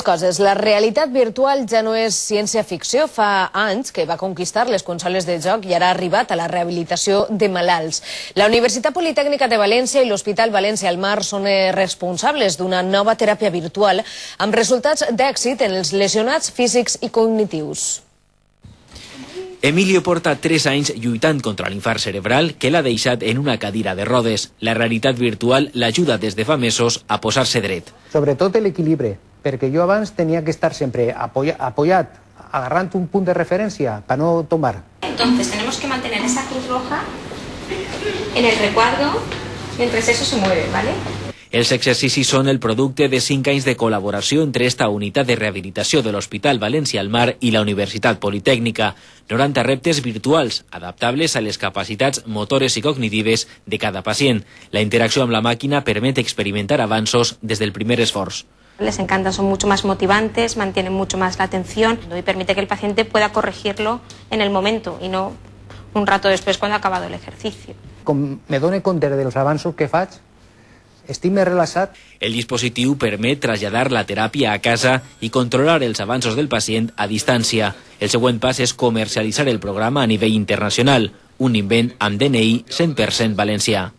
coses. La realitat virtual ja no és ciència-ficció. Fa anys que va conquistar les consoles de joc i ara ha arribat a la rehabilitació de malalts. La Universitat Politècnica de València i l'Hospital València al Mar són responsables d'una nova teràpia virtual amb resultats d'èxit en els lesionats físics i cognitius. Emilio porta 3 anys lluitant contra l'infart cerebral que l'ha deixat en una cadira de rodes. La realitat virtual l'ajuda des de fa mesos a posar-se dret. Sobretot l'equilibri, perquè jo abans tenia que estar sempre apoyat, agarrant un punt de referència para no tombar. Entonces tenemos que mantener esa cruz roja en el recuadro mientras eso se mueve, ¿vale? Els exercicis són el producte de 5 anys de col·laboració entre esta unitat de rehabilitació de l'Hospital València al Mar i la Universitat Politècnica. 90 reptes virtuals, adaptables a les capacitats motores i cognitives de cada pacient. La interacció amb la màquina permet experimentar avanços des del primer esforç. Les encanta, son mucho más motivantes, mantienen mucho más la atención y permite que el paciente pueda corregirlo en el momento y no un rato después cuando ha acabado el ejercicio. Com me dono compte dels avanços que faig, estic més relaxat. El dispositiu permet traslladar la teràpia a casa i controlar els avanços del pacient a distància. El següent pas és comercialitzar el programa a nivell internacional, un invent amb DNI 100% valencià.